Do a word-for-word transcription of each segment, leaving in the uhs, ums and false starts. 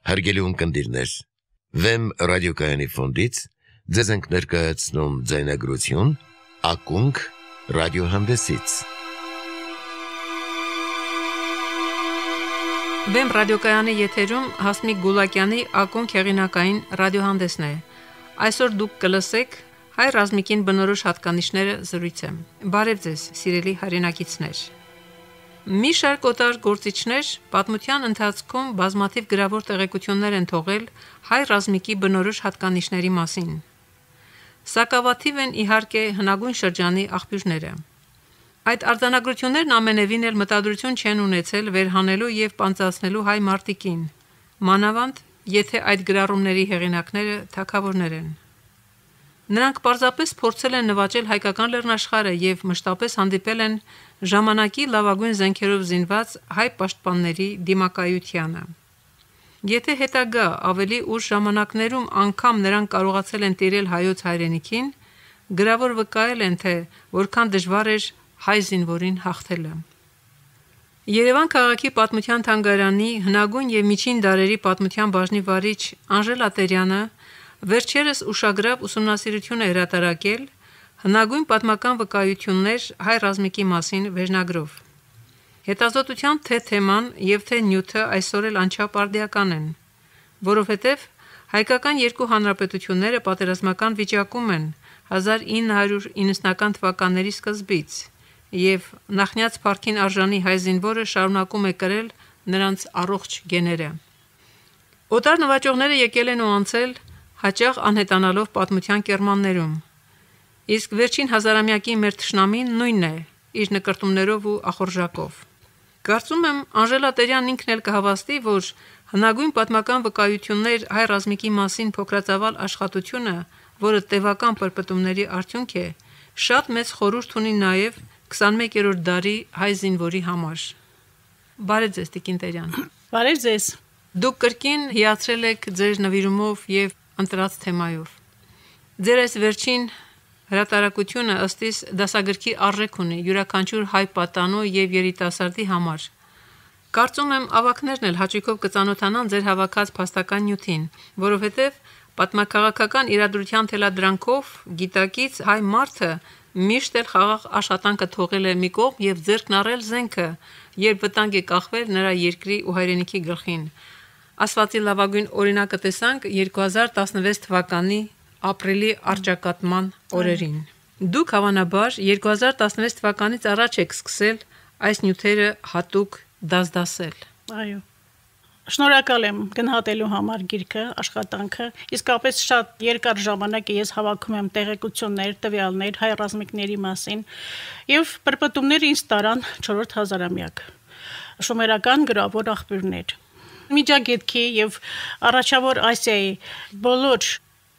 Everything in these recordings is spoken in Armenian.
Հարգելի ունկնդիրներ, Վեմ ռադիոկայանի ֆոնդից ձեզ ենք ներկայացնում ձայնագրություն «Ակունք» ռադիոհանդեսից։ Վեմ ռադիոկայանի եթերում Հասմիկ Գուլակյանի «Ակունք» հեղինակային ռադիոհանդեսն է։ Այսօր դուք կլսեք հայ ռազմիկին բնորոշ հատկանիշները զրույցը։ Բարև ձեզ, սիրելի հայրենակիցներ։ Մի շարք օտար գործիչներ պատմության ընթացքում բազմաթիվ գրավոր տեղեկություններ են թողել հայ ռազմիկի բնորոշ հատկանիշների մասին։ Սակավաթիվ են իհարկե հնագույն շրջանի աղբյուրները։ Այդ արձանագրություններն ամենևին էլ մտադրություն չեն ունեցել վերհանելու և պանծացնելու հայ մարտիկին, մանավանդ եթե այդ գրառումների հեղինակները թագավորներ են։ Նրանք պարզապես փորձել են նվաճել հայկական լեռնաշխարհը և մշտապես հանդիպել են ժամանակի լավագույն զենքերով զինված հայ պաշտպանների դիմակայությանը։ Եթե հետագա ավելի ուշ ժամանակներում անգամ նրանք կարողացել են տիրել հայոց հայրենիքին, գրավոր վկայել են, թե որքան դժվար էր հայ զինվորին հաղթելը։ Երևան քաղաքի պատմության թանգարանի հնագույն և միջին դարերի պատմության բաժնի վարիչ Անժելա Տերյանը վերջերս ուշագրավ ուսումնասիրություն է հրատարակել «Հնագույն պատմական վկայություններ հայ ռազմիկի մասին» վերնագրով։ Հետազոտության թե թեման և թե նյութը այսօր էլ անչափ արդիական են, որովհետև հայկական երկու հանրապետությունները պատերազմական վիճակում են հազար ինը հարյուր իննսունական թվականների սկզբից, և նախնյաց փառքին արժանի հայ զինվորը շարունակում է կրել նրանց առողջ գեները։ Օտար նվաճողները եկել են ու անցել, հաճախ անհետանալով պատմության կեռմաններում, իսկ վերջին հազարամյակի մեր թշնամին նույնն է իր նկրտումներով ու ախորժակով։ Կարծում եմ Անժելա Տերյանն ինքն էլ կհավաստի, որ հնագույն պատմական վկայություններ հայ ռազմիկի մասին փոքրածավալ աշխատությունը, որը տևական պրպտումների արդյունք է, շատ մեծ խորհուրդ ունի նաև քսանմեկերորդ դարի հայ զինվորի համար։ Բարև ձեզ, տիկին Տերյան։ Բարև ձեզ։ Դուք կրկին հիացրել եք ձեր նվիրումով և ընտրած թեմայով։ Ձեր այս վերջին հրատարակությունը ըստ իս դասագրքի արժեք ունի յուրաքանչյուր հայ պատանու և երիտասարդի համար։ Կարծում եմ ավագներն էլ հաճույքով կծանոթանան ձեր հավաքած փաստական նյութին, որովհետև պատմաքաղաքական իրադրության թելադրանքով գիտակից հայ մարդը միշտ էլ խաղաղ աշխատանքը թողել է մի կողմ և ձեռքն առել զենքը, երբ վտանգ է կախվել նրա երկրի ու հայրենիքի գլխին։ Ասվածի լավագույն օրինակը տեսանք երկու հազար տասնվեց թվականի ապրիլի առճակատման օրերին։ Դուք հավանաբար երկու հազար տասնվեց թվականից առաջ եք սկսել այս նյութերը հատուկ դասդասել։ Այո։ Շնորհակալ եմ գնահատելու համար գիրքը, աշխատանքը։ Իսկապես շատ երկար ժամանակ ես հավաքում եմ տեղեկություններ, տվյալներ հայ ռազմիկների մասին, եւ պրպտումները ինձ տարան չորրորդ հազարամյակ։ Շոմերական գրավոր աղբյուրներ։ Միջագետքի եւ առաջավոր Ասիայի բոլոր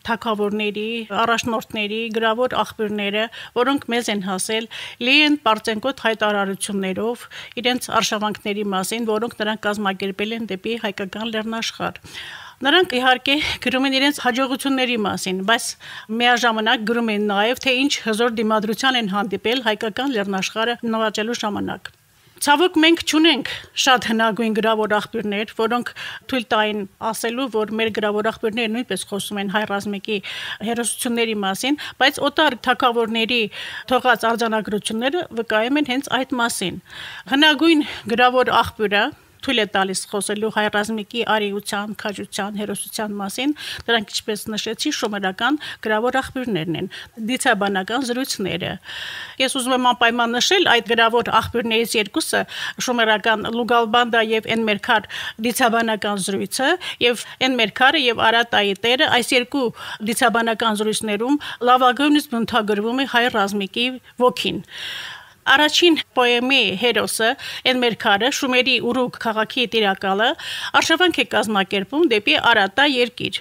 թագավորների, առաջնորդների գրավոր աղբյուրները, որոնք մեզ են հասել, լի են պարծենկոտ հայտարարություններով իրենց արշավանքների մասին, որոնք նրանք կազմակերպել են դեպի հայկական լեռնաշխարհ։ Նրանք իհարկե գրում են իրենց հաջողությունների մասին, բայց միաժամանակ գրում են նաև, թե ինչ հզոր դիմադրության են հանդիպել հայկական լեռնաշխարհը նվաճելու ժամանակ։ Ցավոք մենք չունենք շատ հնագույն գրավոր աղբյուրներ, որոնք թույլ տային ասելու, որ մեր գրավոր աղբյուրները նույնպես խոսում են հայ ռազմիկի հերոսությունների մասին, բայց օտար թագավորների թողած արձանագրությունները վկայում են հենց այդ մասին։ Հնագույն գրավոր աղբյուրը թույլ է տալիս խոսելու հայ ռազմիկի արիության, քաջության, հերոսության մասին, դրանք ինչպես նշեցի, շոմերական գրավոր աղբյուրներն են, դիցաբանական զրույցները։ Ես ուզում եմ անպայման նշել այդ գրավոր աղբյուրներից երկուսը, շոմերական Լուգալբանդա եւ Էնմերքար դիցաբանական զրույցը, եւ Էնմերքարը եւ Արատայի տերը, այս երկու դիցաբանական զրույցներում լավագույնս բնութագրվում է հայ ռազմիկի ոգին։ Առաջին պոեմի հերոսը Էնմերքարը Շումերի Ուրուկ քաղաքի տիրակալը արշավանք է կազմակերպում դեպի Արատա երկիր։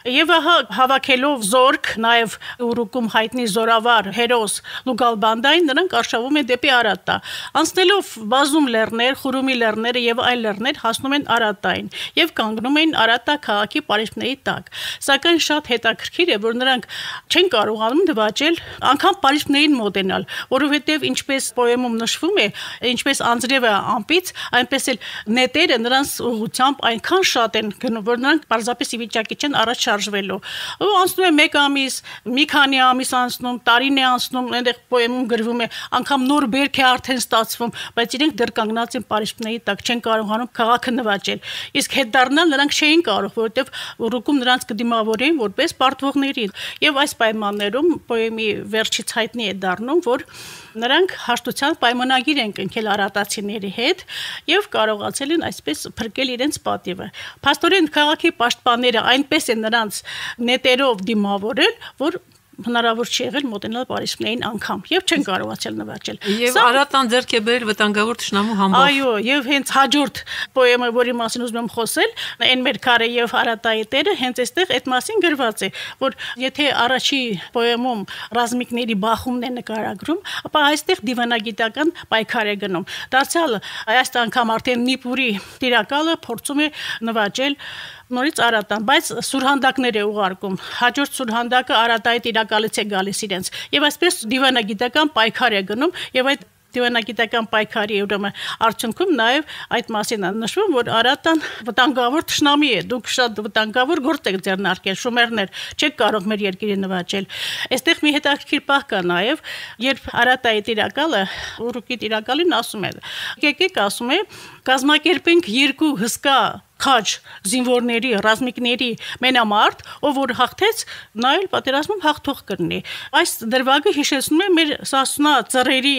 Եվ ահա հավաքելով զորք, նաև Ուրուկում հայտնի զորավար հերոս Լուգալբանդային նրանք արշավում են դեպի Արատա։ Անցնելով բազում լեռներ, Խուրումի լեռները եւ այլ լեռներ հասնում են Արատային եւ կանգնում են Արատա քաղաքի պարիսպների տակ։ Սակայն շատ հետաքրքիր է, որ նրանք չեն կարողանում նվաճել անգամ պարիսպներին մոտենալ, որովհետեւ ինչպես պոեմում նշվում է, ինչպես անձրևը ամպից, այնպես էլ նետերը նրանց ուղղությամբ այնքան շատ են գնում, որ նրանք պարզապես ի վիճակի չեն առաջ շարժվելու։ Ու անցնում է մեկ ամիս, մի քանի ամիս անցնում, տարին է անցնում, այնտեղ պոեմում գրվում է, անգամ նոր բերք է արդեն ստացվում, բայց իրենք դեռ կանգնած են պարիսպների տակ, չեն կարողանում քաղաքը նվաճել։ Իսկ հետ դառնալ նրանք չէին կարող, որովհետև Ուրուկում նրանց կդիմավորեին որպես պարտվողների։ Եվ այս պայմաններում պոեմի վերջից հայտնի է դառնում, որ նրանք հաշտության պայմանագիր են կնքել արատացիների հետ եւ կարողացել են այսպես փրկել իրենց պատիվը։ Փաստորեն քաղաքի պաշտպանները այնպես են նրանց նետերով դիմավորել, որ հնարավոր չի եղել մոտենալ պարիսպներին անգամ եւ չեն կարողացել նվաճել։ Եվ Արատան ձեռք է բերել վտանգավոր թշնամու համբավ։ Այո, եւ հենց հաջորդ պոեմը, որի մասին ուզում եմ խոսել, այն մեր քարը եւ Արատայի տերը, հենց այստեղ այդ մասին գրված է, որ եթե առաջի պոեմում ռազմիկների բախումն է նկարագրում, ապա այստեղ դիվանագիտական պայքար է գնում։ Դարձյալ այս անգամ արդեն Նիպուրի տիրակալը փորձում է նվաճել նորից Արատան, բայց սուրհանդակներ է ուղարկում։ Հաջորդ սուրհանդակը Արատայի տիրակալից է գալիս իրենց։ Եվ այսպես դիվանագիտական պայքար է գնում եւ այդ դիվանագիտական պայքարի ուրեմն արդյունքում նաև այդ մասին նշվում, որ Արատան վտանգավոր թշնամի է։ Դուք շատ վտանգավոր գործ եք ձեռնարկել, շումերներ, չեք կարող մեր երկիրը նվաճել։ Այստեղ մի հետաքրքիր պահ կա նաև, երբ Արատայի տիրակալը Ուրուկի տիրակալին ասում է. «Եկեք, ասում է, կազմակերպենք երկու հսկա քաջ զինվորների, ռազմիկների մենամարտ, ով որ հաղթեց, նա էլ պատերազմում հաղթող կլինի»։ Այս դրվագը հիշեցնում է մեր Սասնա ծռերի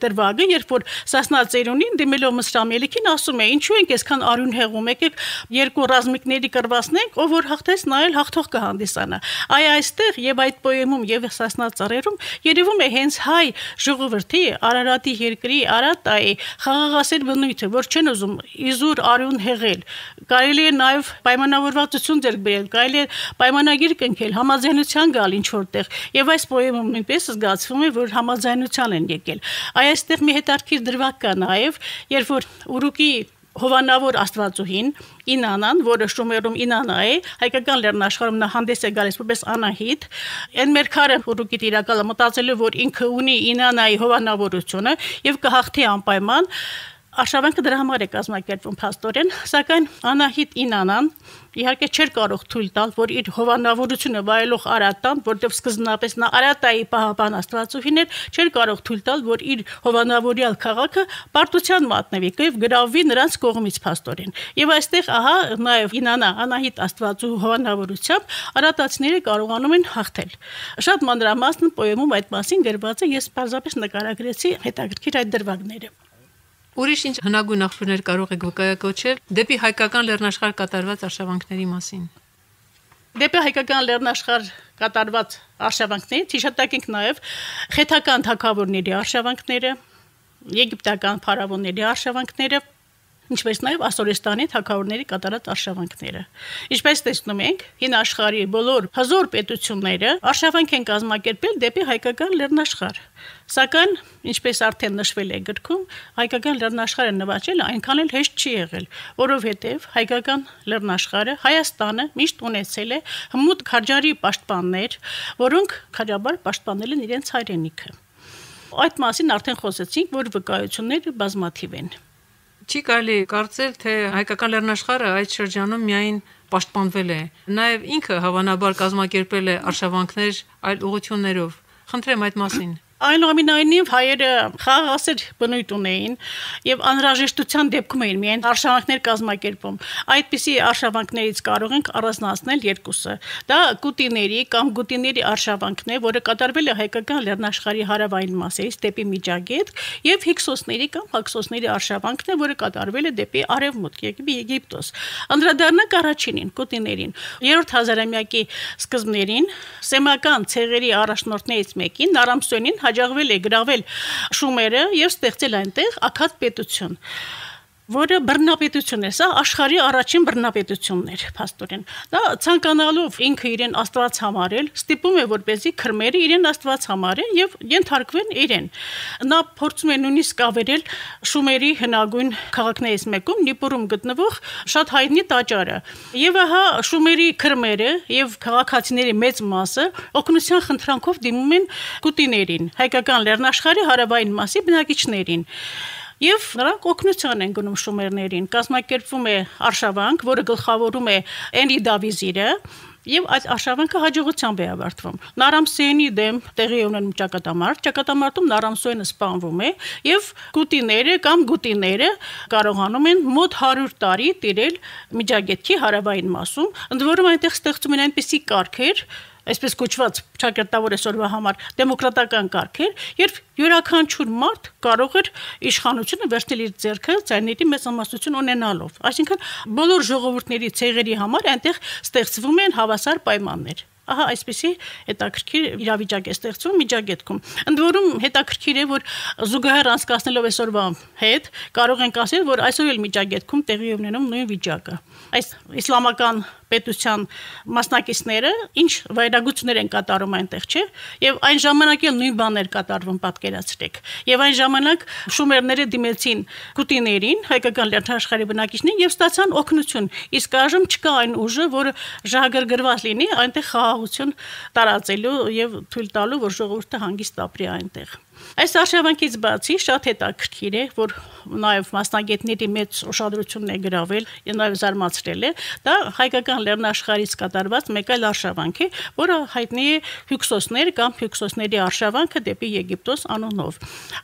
դրվագը, երբ որ Սասնա ծերունին դիմելով Մսրամելիքին ասում է. «Ինչու ենք այսքան արյուն հեղում, եկեք երկու ռազմիկների կռվացնենք, ով որ հաղթեց, նա էլ հաղթող կհանդիսանա»։ Այ այստեղ եւ այդ պոեմում եւ Սասնա ծռերում երևում է հենց հայ ժողովրդի Արարատի երկրի Արատայի խաղաղասեր բնույթը, որ չեն ուզում իզուր արյուն հեղել։ Կարելի է նաև պայմանավորվածություն ձեռք բերել, կարելի է պայմանագիր կնքել, համաձայնության գալ ինչ որտեղ։ Եվ այս պոեմում նույնպես զգացվում է, որ համաձայնության են եկել։ Այ այստեղ մի հետաքրքիր դրվագ կա նաև, երբ որ Ուրուկի հովանավոր աստվածուհին Ինանան, որը շումերում Ինանա է, հայկական լեռնաշխարհում նա հանդես է գալիս որպես Անահիտ, այն մեր քարը Ուրուկի տիրակալը մտածել է, որ ինքը ունի Ինանայի հովանավորությունը եւ կհաղթի անպայման։ Արշավանքը դրա համար է կազմակերպվում փաստորեն, սակայն Անահիտ Ինանան իհարկե չէր կարող թույլ տալ, որ իր հովանավորությունը վայելող Արատան, որտեղ սկզբնապես նա Արատայի պահապան աստվածուհին էր, չէր կարող թույլ տալ, որ իր հովանավորյալ քաղաքը պարտության մատնվի եւ գրավվի նրանց կողմից փաստորեն։ Եվ այստեղ ահա նաեւ Ինանա Անահիտ աստվածու հովանավորությամբ արատացիները կարողանում են հաղթել։ Շատ մանրամասն պոեմում այդ մասին գրված է, ես պարզապես նկարագրեցի հետաքրքիր այդ դրվագները։ Ուրիշ ինչ հնագույն աղբյուրներ կարող եք վկայակոչել դեպի հայկական լեռնաշխարհ կատարված արշավանքների մասին։ Դեպի հայկական լեռնաշխարհ կատարված արշավանքներից հիշատակենք նաև խեթական թագավորների արշավանքները, եգիպտական փարավոնների արշավանքները, ինչպես նաև Ասորեստանի թագավորների կատարած արշավանքները։ Ինչպես տեսնում ենք, հին աշխարհի բոլոր հզոր պետությունները արշավանք են կազմակերպել դեպի հայկական լեռնաշխարհ։ Սակայն, ինչպես արդեն նշվել է գրքում, հայկական լեռնաշխարհը նվաճելը այնքան էլ հեշտ չի եղել, որովհետև հայկական լեռնաշխարհը Հայաստանը միշտ ունեցել է հմուտ քաջարի պաշտպաններ, որոնք քաջաբար պաշտպանել են իրենց հայրենիքը։ Այդ մասին արդեն խոսեցինք, որ վկայությունները բազմաթիվ են։ Չի կարելի կարծել, թե հայկական լեռնաշխարհը այդ շրջանում միայն պաշտպանվել է, նաև ինքը հավանաբար կազմակերպել է արշավանքներ այլ ուղղություններով։ Խնդրեմ այդ մասին։ Այնուամենայնիվ հայերը խաղաղասեր բնույթ ունեին եւ անհրաժեշտության դեպքում էին միայն արշավանքներ կազմակերպում։ Այդպիսի արշավանքներից կարող ենք առանձնացնել երկուսը։ Դա Կուտիների կամ Գուտիների արշավանքն է, որը կատարվել է հայկական լեռնաշխարհի հարավային մասերից դեպի Միջագետք, եւ Հիքսոսների կամ Հաքսոսների արշավանքն է, որը կատարվել է դեպի Արևմուտք, Եգիպտոս։ Անդրադառնանք առաջինին, Կուտիներին։ Երրորդ հազարամյակի սկզբներին սեմական ցեղերի առաջնորդներից մեկին Նարամսոնին հաջողվել է գրավել շումերը եւ ստեղծել այնտեղ աքադ պետություն, որը բռնապետություն է, սա աշխարհի առաջին բռնապետությունն էր փաստորեն։ Դա ցանկանալով ինքը իրեն աստված համարել, ստիպում է որպեսզի քրմերը իրեն աստված համարեն եւ ենթարկվեն իրեն։ Նա փորձում է նույնիսկ ավերել շումերի հնագույն քաղաքներից մեկում Նիպուրում գտնվող շատ հայտնի տաճարը։ Եվ ահա շումերի քրմերը եւ քաղաքացիների մեծ մասը օգնության խնդրանքով դիմում են կուտիներին, հայկական լեռնաշխարհի հարավային մասի բնակիչներին։ Եվ նրանք օգնության են գնում շումերներին, կազմակերպվում է արշավանք, որը գլխավորում է Էնրի Դավիզիրը, եւ այդ արշավանքը հաջողությամբ է ավարտվում։ Նարամսոյանի դեմ տեղի ունենում ճակատամարտ, ճակատամարտում Նարամսոյանը սպանվում է եւ կուտիները կամ գուտիները կարողանում են մոտ հարյուր տարի տիրել Միջագետքի հարավային մասում, ընդ որում այնտեղ ստեղծում են այնպիսի կարգեր, այսպես կոչված ճակատավոր այսօրվա համար դեմոկրատական կարգեր, երբ յուրաքանչյուր մարդ կարող էր իշխանությունը վերցնել իր ձեռքը ցայների մեծամասնություն ունենալով։ Այսինքն բոլոր ժողովուրդների ցեղերի համար այնտեղ ստեղծվում են հավասար պայմաններ։ Ահա այսպեսի հետաքրքիր իրավիճակ է ստեղծվում Միջագետքում։ Ընդ որում հետաքրքիր է, որ զուգահեռ անցկացնելով այսօրվա հետ կարող ենք ասել, որ այսօր էլ Միջագետքում տեղի ունենում նույն վիճակը։ Այս իսլամական պետության մասնակիցները ինչ վայրագություններ են կատարում այնտեղ, չէ՞։ Եվ այն ժամանակ էլ նույն բաներ կատարվում, պատկերացրեք։ Եւ այն ժամանակ շումերները դիմեցին կուտիներին, հայկական լեռնաշխարհի բնակիչներին եւ ստացան օգնություն։ Իսկ այժմ չկա այն ուժը, որը ժահագրգռված լինի այնտեղ խաղաղություն տարածելու եւ թույլ տալու, որ ժողովուրդը հանգիստ ապրի այնտեղ։ Այս արշավանքից բացի շատ հետաքրքիր է, որ նաև մասնագետների մեծ ուշադրությունն է գրավել եւ նաև զարմացրել է, դա հայկական լեռնաշխարհից կատարված մեկ այլ արշավանք է, որը հայտնի է Հյուքսոսներ կամ Հյուքսոսների արշավանքը դեպի Եգիպտոս անունով։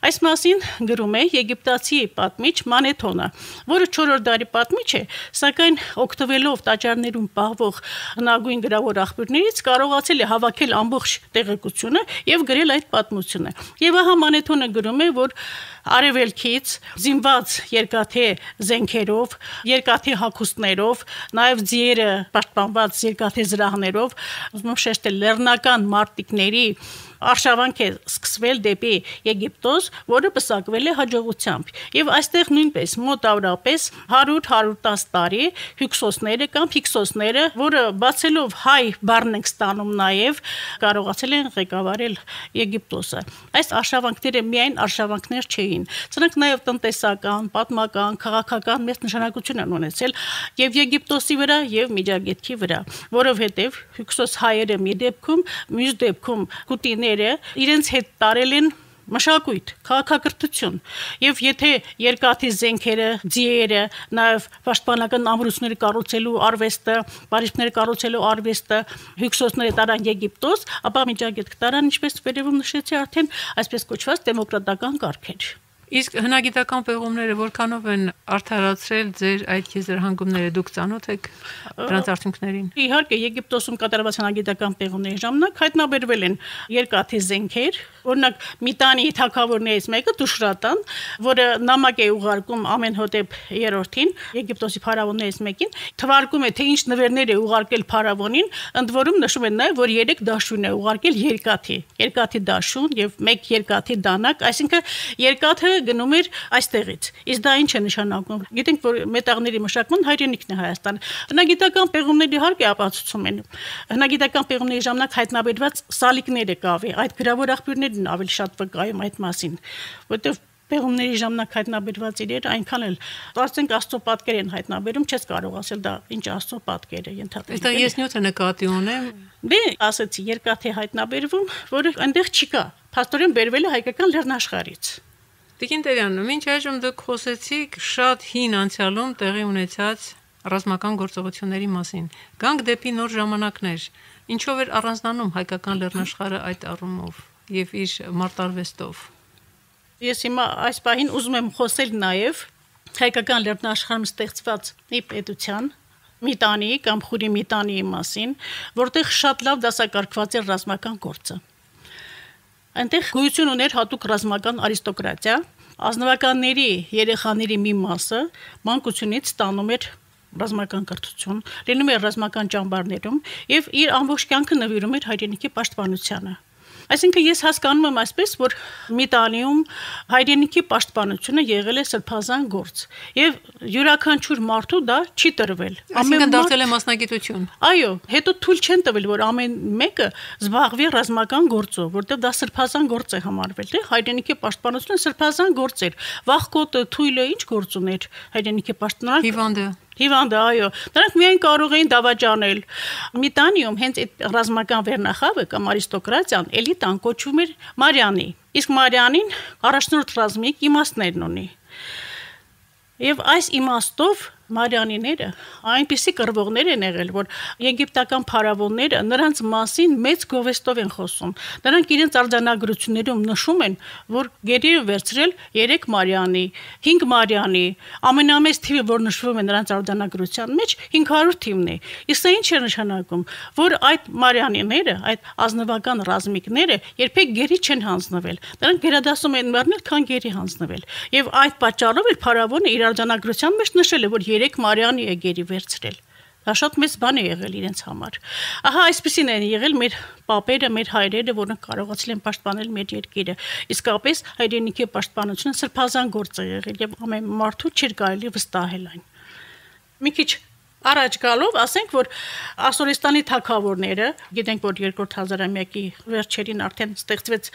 Այս մասին գրում է եգիպտացի պատմիչ Մանեթոնը, որը չորրորդ դարի պատմիչ է, սակայն օգտվելով տաճարներում պահվող հնագույն գրավոր աղբյուրներից կարողացել է հավաքել ամբողջ տեղեկությունը եւ գրել այդ պատմությունը։ Եվ ահա Մանեթոնը գրում է, որ արևելքից զինված երկաթե զենքերով, երկաթե հագուստներով, նաև ձիերը պաշտպանված երկաթե զրահներով, ուզում եմ շեշտել լեռնական մարտիկների արշավանք է սկսվել դեպի Եգիպտոս, որը պսակվել է հաջողությամբ։ Եվ այստեղ նույնպես մոտավորապես հարյուր հարյուր տասը տարի Հյուքսոսները կամ Հիքսոսները, որը բացելով հայ բառն ենք ստանում նաև, կարողացել են ղեկավարել Եգիպտոսը։ Այս արշավանքները միայն արշավանքներ չէին, սրանք նաև տնտեսական, պատմական, քաղաքական մեծ նշանակություն են ունեցել եւ Եգիպտոսի վրա եւ Միջագետքի վրա, որովհետեւ Հյուքսոս հայերը մի դեպքում, մյուս դեպքում կուտիները իրենց հետ տարել են մշակույթ, քաղաքակրթություն եւ եթե երկաթի զենքերը, ձիերը, նաեւ պաշտպանական ամրությունները կառուցելու արվեստը, բարիչները կառուցելու արվեստը Հյուքսոսները տարան Եգիպտոս, ապա Միջագետք տարան, ինչպես վերևում նշեցի, արդեն այսպես կոչված դեմոկրատական կարգեր։ Իսկ հնագիտական պեղումները որքանով են արդարացրել ձեր այդ եզրահանգումները, դուք ծանոթ եք դրանց արդյունքներին։ Իհարկե Եգիպտոսում կատարված հնագիտական պեղումների ժամանակ հայտնաբերվել են երկաթի զենքեր, օրինակ Միտանի թագավորներից մեկը Տուշրատան, որը նամակ է ուղարկում Ամենհոտեպ երրորդին, Եգիպտոսի փարավոններից մեկին, թվարկում է, թե ինչ նվերներ է ուղարկել փարավոնին, ընդ որում նշում են նաև, որ երեք դաշույն է ուղարկել երկաթի, երկաթի դաշույն եւ մեկ երկաթի դանակ, այսինքն երկաթը գնում էր այստեղից։ Իսկ դա ինչ է նշանակում։ Գիտենք, որ մետաղների մշակման հայրենիքն է Հայաստանը։ Հնագիտական պեղումների իհարկե ապացուցում են։ Հնագիտական պեղումների ժամանակ հայտնաբերված սալիկները կավի, այդ գրավոր աղբյուրներն ավելի շատ վկայում այդ մասին, որտեղ պեղումների ժամանակ հայտնաբերված իրերը այնքան էլ կարծենք Աստծո պատկեր են հայտնաբերում, չես կարող ասել դա ինչ Աստծո պատկեր է ենթադրել։ Այստեղ ես նյութը նկատի ունեմ։ Դե ասեցի երկաթի հայտնաբերվում, որը այնտեղ չկա։ Փաստորեն բերվել է հայկական լեռնաշխարհից։ Տիկին Տերյան, մինչ այժմ դուք խոսեցիք շատ հին անցյալում տեղի ունեցած ռազմական գործողությունների մասին։ Գանք դեպի նոր ժամանակներ։ Ինչով էր առանձնանում հայկական լեռնաշխարհը այդ առումով եւ իր մարտարվեստով։ Ես հիմա այս պահին ուզում եմ խոսել նաև հայկական լեռնաշխարհում ստեղծված մի պետության Միտանի կամ Խուրի Միտանի մասին, որտեղ շատ լավ դասակարգված էր ռազմական գործը։ Այնտեղ գոյություն ուներ հատուկ ռազմական արիստոկրատիա, ազնվականների երեխաների մի մասը մանկությունից ստանում էր ռազմական կրթություն, լինում էր ռազմական ճամբարներում եւ իր ամբողջ կյանքը նվիրում էր հայրենիքի պաշտպանությանը։ Այսինքն ես հասկանում եմ այսպես, որ մի տանիում հայրենիքի պաշտպանությունը եղել է սրբազան գործ եւ յուրաքանչյուր մարդու դա չի տրվել։ Այսինքն դարձել է մասնագիտություն։ Այո, հետո թույլ չեն տվել, որ ամեն մեկը զբաղվի ռազմական գործով, որտեղ դա սրբազան գործ է համարվել, թե հայրենիքի պաշտպանությունը սրբազան գործ էր։ Վախկոտը, թույլը ինչ գործ ուներ հայրենիքի պաշտպանան։ Հիվանդը Հիվանդը, այո, նրանք միայն կարող էին դավաճանել։ Մի տանիում հենց այդ ռազմական վերնախավը կամ արիստոկրատիան էլիտան կոչվում էր Մարիանի։ Իսկ Մարիանին առաջնորդ ռազմիկ իմաստներն ունի։ Եվ այս իմաստով Մարիանիները այնպիսի կռվողներ են եղել, որ եգիպտական փարավոնները նրանց մասին մեծ գովեստով են խոսում։ Նրանք իրենց արձանագրություններում նշում են, որ գերի են վերցրել երեք Մարիանի, հինգ Մարիանի, ամենամեծ թիվը, որ նշվում է նրանց արձանագրության մեջ, հինգ հարյուր թիվն է։ Իսկ սա ինչ է նշանակում, որ այդ Մարիանիները, այդ ազնվական ռազմիկները երբեք գերի չեն հանձնվել։ Նրանք գերադասում են մեռնել, քան գերի հանձնվել։ Եվ այդ պատճառով էլ փարավոնը իր արձանագրության մեջ նշել է, որ երեք Մարիանի է գերի վերցրել։ Դա շատ մեծ բան է եղել իրենց համար։ Ահա այսպեսին են եղել մեր պապերը, մեր հայրերը, որոնք կարողացել են պաշտպանել մեր երկիրը։ Իսկապես հայրենիքի պաշտպանությունը սրբազան գործ է եղել եւ ամեն մարդու չէր կարելի վստահել այն։ Մի քիչ Առաջ գալով ասենք, որ Ասորեստանի թագավորները, գիտենք, որ երկրորդ հազարամյակի վերջերին արդեն ստեղծվեց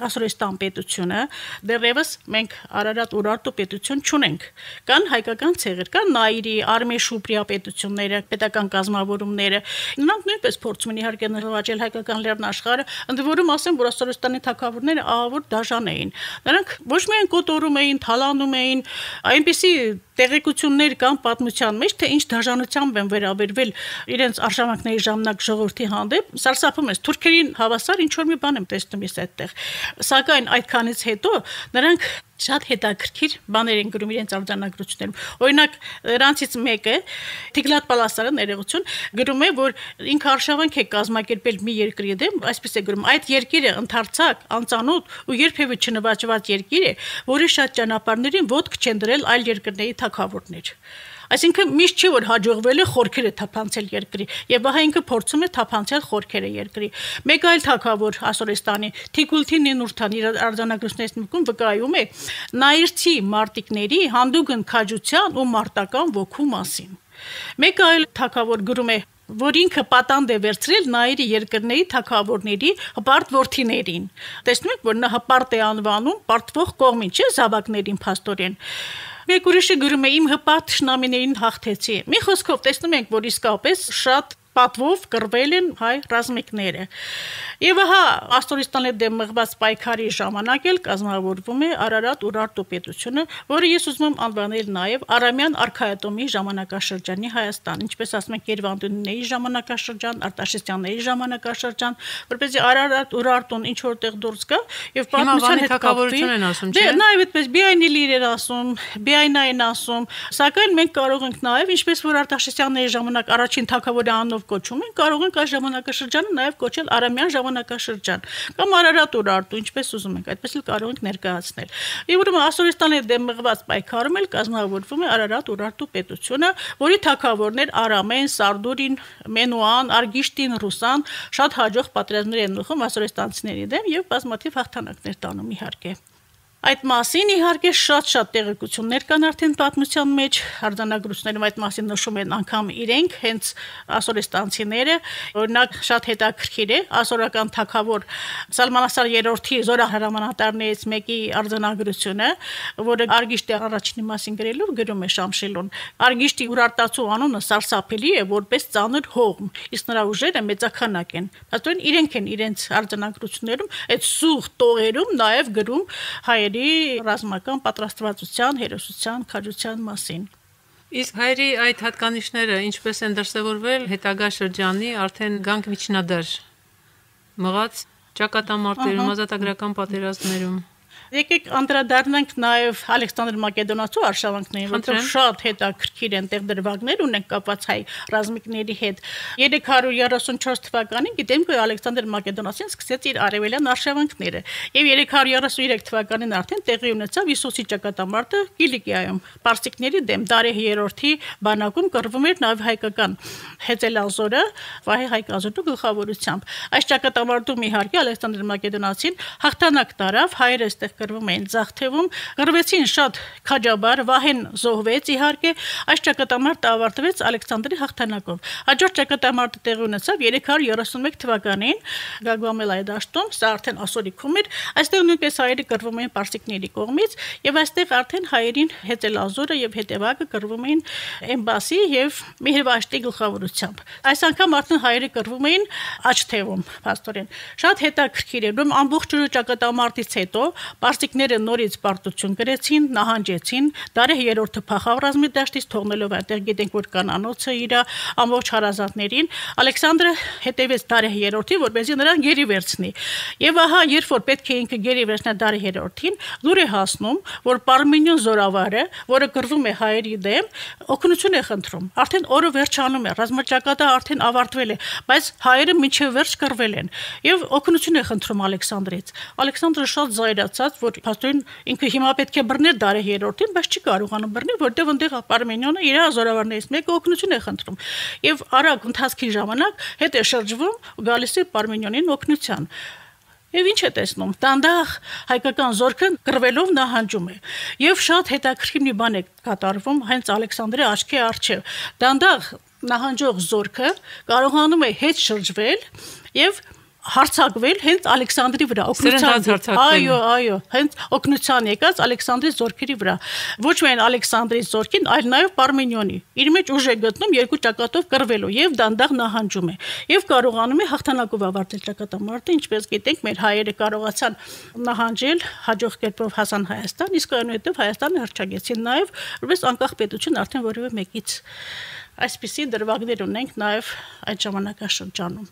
Ասորեստան պետությունը, դեռևս մենք Արարատ Ուրարտու պետություն չունենք։ Կան հայկական ցեղեր, կան Նայիրի, Արմե Շուպրիա պետությունները, պետական կազմավորումները։ Նրանք նույնպես փորձում են իհարկե նվաճել հայկական լեռնաշխարհը, ընդ որում ասեմ, որ Ասորեստանի թագավորները ահավոր դաժան էին։ Նրանք ոչ միայն կոտորում էին, թալանում էին, այնպիսի տեղեկություններ կան պատմության մեջ, թե ինչ դաժանությամբ են վերաբերվել իրենց արշավանքների ժամանակ ժողովրդի հանդեպ, սարսափում ես, թուրքերին հավասար ինչ որ մի բան եմ տեսնում ես այդտեղ։ Սակայն այդքանից հետո նրանք շատ հետաքրքիր բաներ են գրում իրենց արձանագրություններում։ Օրինակ, նրանցից մեկը Թիգլատ Պալասարը ներողություն գրում է, որ ինքը արշավանք է կազմակերպել մի երկրի դեմ, այսպես է գրում, այդ երկիրը ընդարձակ, անծանոթ ու երբևէ չնվաճված երկիր է, որի շատ ճանապարհներին ոտք չեն դրել այլ երկրների թագավորներ։ Այսինքն միշտ չի որ հաջողվել է խորքերը թափանցել երկրի եւ ահա ինքը փորձում է թափանցել խորքերը երկրի։ Մեկ այլ թագավոր Ասորեստանի Թիկուլթի Նինուրթան իր արձանագրություններից մեկում վկայում է նայիրցի մարտիկների հանդուգն քաջության ու մարտական ոգու մասին։ Մեկ այլ թագավոր գրում է որ ինքը պատանդ է վերցրել Նայիրի երկրների թագավորների հպարտ որդիներին։ Տեսնում եք, որ նա հպարտ է անվանում պարտվող կողմին, չէ՞ զավակներին փաստորեն։ Մեկ ուրիշը գրում է իմ հպարտ շնամիներին հաղթեցի։ Մի խոսքով տեսնում ենք, որ իսկապես շատ պատվով կռվել են հայ ռազմիկները։ Եվ ահա Ասորեստանի դեմ մղված պայքարի ժամանակ էլ կազմավորվում է Արարատ Ուրարտու պետությունը, որը ես ուզում եմ անվանել նաև Արամյան արքայատոմի ժամանակաշրջանի Հայաստան, ինչպես ասում ենք Երևանդունիների ժամանակաշրջան, Արտաշեսյանների ժամանակաշրջան, որպեսզի Արարատ Ուրարտուն ինչ որտեղ դուրս գա եւ պատմության հետ կապվի։ Դե նաև այդպես Բիայնիլիր էր ասում, Բիայնային ասում, սակայն մենք կարող ենք նաև ինչպես որ Արտաշեսյանների ժամանակ առաջին թագավորի անունով կոչում են, կարող ենք այս ժամանակաշրջանը նաև կոչել Արամյան ժամանակաշրջան կամ Արարատ Ուրարտու, ինչպես ուզում ենք, այդպես էլ կարող ենք ներկայացնել։ Եվ ուրեմն Ասորեստանի դեմ մղված պայքարում էլ կազմավորվում է Արարատ Ուրարտու պետությունը, որի թագավորներ Արամեն, Սարդուրին, Մենուան, Արգիշտին, Ռուսան շատ հաջող պատերազմներ են ուղղում ասորեստանցիների դեմ եւ բազմաթիվ հաղթանակներ տանում իհարկե։ Այդ մասին իհարկե շատ-շատ տեղեկություններ կան արդեն պատմության մեջ, արձանագրություններում այդ մասին նշում են անգամ իրենք, հենց ասորեստանցիները, օրինակ շատ հետաքրքիր է ասորական թագավոր Սալմանասար երրորդի զորահրամանատարներից մեկի արձանագրությունը, որը Արգիշտի առաջինի մասին գրելով գրում է Շամշիլուն։ Արգիշտի Ուրարտացու անունը սարսափելի է, որպես ծանր հողմ, իսկ նրա ուժերը մեծաքանակ են։ Բայց իրենք են իրենց արձանագրություններում այդ սուղ տողերում նաև գրում հայ ռազմական պատրաստվածության, հերոսության, քաջության մասին։ Իսկ հայերի այդ հատկանիշները ինչպես են դրսևորվել հետագա շրջանի արդեն գանք միջնադար մղած ճակատամարտերում, ազատագրական պատերազմներում։ Եկեք անդրադառնանք նաև Ալեքսանդր Մակեդոնացու արշավանքներին, որտեղ շատ հետաքրքիր են տեղ դրվագներ ունենք կապված հայ ռազմիկների հետ։ երեք հարյուր երեսունչորս թվականին գիտենք, որ Ալեքսանդր Մակեդոնացին սկսեց իր արևելյան արշավանքները, եւ երեք հարյուր երեսունյուրեք թվականին արդեն տեղի ունեցավ Իսուսի ճակատամարտը Կիլիկիայում։ Պարսիկների դեմ Դարեհ երրորդի բանակում կռվում էր նաև հայկական Հեծելազորը, Վահե Հայկազոտու գլխավորությամբ։ Այս ճակատամարտում իհարկե Ալեքսանդր Մակեդոնացին հաղթանակ տարավ, հայերը այստեղ կռվում էին ձախ թևում, կռվեցին շատ քաջաբար, Վահեն զոհվեց իհարկե, այս ճակատամարտը ավարտվեց Ալեքսանդրի հաղթանակով։ Հաջորդ ճակատամարտը տեղի ունեցավ երեք հարյուր երեսունմեկ թվականին Գագամելայի դաշտում, սա արդեն ասորիքում էր, այստեղ նույնպես հայերը կռվում էին պարսիկների կողմից, եւ այստեղ արդեն հայերին Հեծելազորը եւ հետևակը կռվում էին Էմբասի եւ Մեհրվաշտի գլխավորությամբ։ Այս անգամ արդեն հայերը կռվում էին աջ թևում, փաստորեն։ Շատ հետաքրքիր է, ում ամբողջ ճակատամարտից հետո պարսիկները նորից պարտություն կրեցին, նահանջեցին, Դարեհ երրորդը փախավ ռազմի դաշտից, թողնելով այնտեղ գիտենք, որ կանանոցը իր ամբողջ հարազատներին, Ալեքսանդրը հետևեց Դարեհ երրորդին, որպեսզի նրան գերի վերցնի։ Եվ ահա, երբ որ պետք է ինքը գերի վերցնի Դարեհ երրորդին, լուր է հասնում, որ Պարմենիոն զորավարը, որը կռվում է հայերի դեմ, օգնություն է խնդրում։ Արդեն օրը վերջանում է, ռազմաճակատը արդեն ավարտվել է, բայց հայերը մինչև վերջ կռվել են եւ օգնություն է խնդրում Ալեքսանդրից։ Ալեքսանդրը շատ զայրացած, որ փաստորեն ինքը հիմա պետք է բռներ Դարեհ երրորդին, բայց չի կարողանում բռնել, որտեղ այնտեղ Պարմենիոնը իր զորավարներից մեկը օգնություն է խնդրում։ Եվ արագ ընթացքի ժամանակ հետ է շրջվում ու գալիս է Պարմենիոնին օգնության։ Եվ ինչ է տեսնում, դանդաղ հայկական զորքը կռվելով նահանջում է։ Եվ շատ հետաքրքիր մի բան է կատարվում հենց Ալեքսանդրի աչքի առջև։ Դանդաղ նահանջող զորքը կարողանում է հետ շրջվել եւ հարցակվել հենց Ալեքսանդրի վրա, օգնության, այո, այո, հենց օգնության եկած Ալեքսանդրի զորքերի վրա։ Ոչ միայն Ալեքսանդրի զորքին, այլ նաև Պարմենիոնի։ Իր մեջ ուժ է գտնում երկու ճակատով կռվելու եւ դանդաղ նահանջում է եւ կարողանում է հաղթանակով ավարտել ճակատամարտը, ինչպես գիտենք, մեր հայերը կարողացան նահանջել, հաջող կերպով հասան Հայաստան, իսկ այնուհետև Հայաստանը հռչակեցին նաև որպես անկախ պետություն արդեն որևէ մեկից։ Այսպիսի դրվագներ ունենք նաև այդ ժամանակաշրջանում։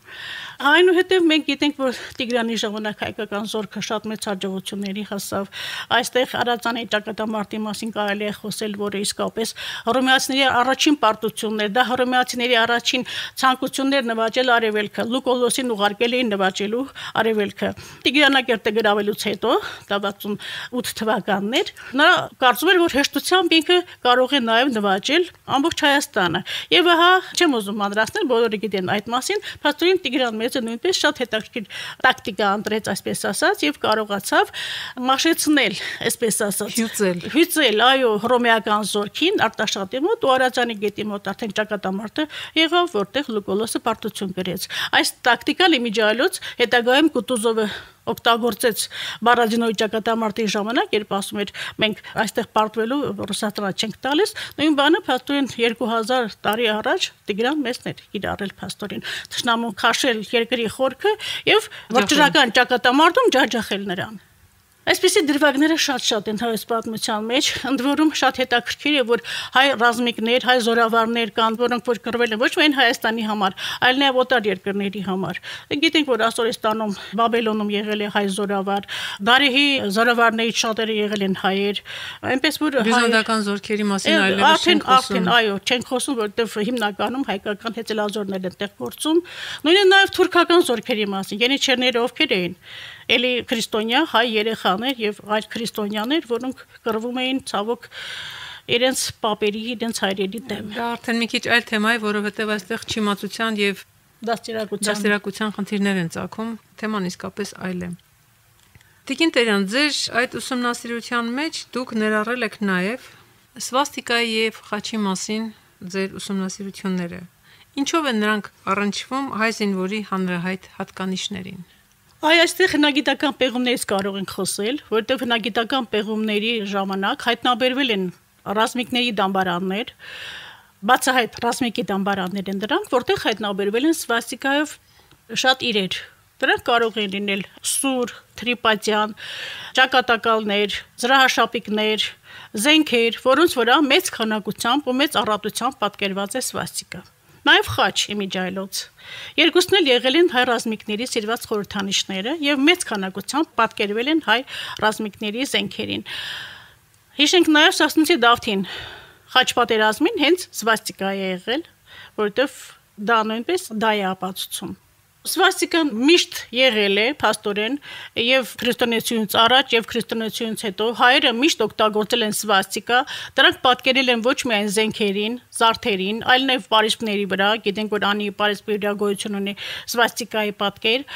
Այնուհետև մենք գիտենք, որ Տիգրանի ժամանակ հայկական զորքը շատ մեծ հաջողությունների հասավ։ Այստեղ Արածանի ճակատամարտի մասին կարելի է խոսել, որը իսկապես հռոմեացիների առաջին պարտությունն էր, դա հռոմեացիների առաջին ցանկություններ նվաճել արևելքը, Լուկոլոսին ուղարկել էին նվաճելու արևելքը։ Տիգրանակերտը գրավելուց հետո, դա վաթսունութ թվականն էր, նա կարծում էր, որ հեշտությամբ ինքը կարող է նաև նվաճել ամբողջ Հայաստանը։ Եվ ահա չեմ ուզում անդրացնել, բոլորը գիտեն այդ մասին, փաստորեն Տիգրան մեծը նույնպես շատ հետաքրքիր տակտիկա ընտրեց, այսպես ասած, եւ կարողացավ մաշեցնել, այսպես ասած, հյուծել, հյուծել, այո, հռոմեական զորքին Արտաշատի մոտ ու Արածանի գետի մոտ արդեն ճակատամարտը եղավ, որտեղ Լուկոլոսը պարտություն կրեց։ Այս տակտիկան իմիջիայլոց հետագայում Կուտուզովը օգտագործեց Բարազինոյի ճակատամարտի ժամանակ, երբ ասում էր մենք այստեղ պարտվելու Ռուսաստանը չենք տալիս, նույն բանը փաստորեն երկու հազար տարի առաջ Տիգրան մեծն էր կիրառել փաստորեն, թշնամուն քաշել երկրի խորքը եւ վճռական ճակատամարտում ջաջախել նրան։ Այսպիսի դրվագները շատ-շատ են հայոց պատմության մեջ, ընդ որում շատ հետաքրքիր է, որ հայ ռազմիկներ, հայ զորավարներ կան, որոնք որ կռվել են ոչ միայն Հայաստանի համար, այլ նաև օտար երկրների համար։ Գիտենք, որ Ասորստանում, Բաբելոնում եղել է հայ զորավար, Դարեհի զորավարներից շատերը եղել են հայեր, այնպես որ բյուզանդական զորքերի մասին այլևս չենք խոսում։ Այո, չենք խոսում, որովհետև հիմնականում հայկական հեծելազորներ են տեղ գործում, նույնիսկ նաև թուրքական զորքերի մասին, ենիչերները ովքեր էին։ Էլի քրիստոնյա հայ երեխաներ եւ այլ քրիստոնյաներ, որոնք կռվում էին ցավոք իրենց պապերի, իրենց հայրերի դեմ։ Դա արդեն մի քիչ այլ թեմա է, որովհետեւ այստեղ չիմացության եւ դաստիարակության դաստիարակության խնդիրներ են ծագում, թեման իսկապես այլ է։ Տիկին Տերյան, ձեր այդ ուսումնասիրության մեջ դուք ներառել եք նաեւ սվաստիկայի եւ խաչի մասին ձեր ուսումնասիրությունները։ Ինչով են նրանք առնչվում հայ զինվորի հանրահայտ հատկանիշներին։ Այ այստեղ հնագիտական պեղումներից կարող ենք խոսել, որտեղ հնագիտական պեղումների ժամանակ հայտնաբերվել են ռազմիկների դամբարաններ, բացահայտ ռազմիկի դամբարաններ են դրանք, որտեղ հայտնաբերվել են սվաստիկայով շատ իրեր։ Դրանք կարող են լինել սուր, թրիպատյան, ճակատակալներ, զրահաշապիկներ, զենքեր, որոնց վրա մեծ քանակությամբ ու մեծ առատությամբ պատկերված է սվաստիկա։ Նաև խաչ իմիջայլոց։ Երկուսն էլ եղել են հայ ռազմիկների սիրված խորհրդանիշները եւ մեծ քանակությամբ պատկերվել են հայ ռազմիկների զենքերին։ Հիշենք նաև Սասունցի Դավթին խաչ պատերազմին հենց սվաստիկա է եղել, որովհետեւ դա նույնպես դա է ապացուցում։ Սվաստիկան միշտ եղել է փաստորեն եւ քրիստոնեությունից առաջ եւ քրիստոնեությունից հետո հայերը միշտ օգտագործել են սվաստիկա, դրանք պատկերել են ոչ միայն զենքերին, զարդերին, այլ նաեւ պարիսպների վրա, գիտենք որ անի պարիսպի վրա գոյություն ունի սվաստիկայի պատկեր,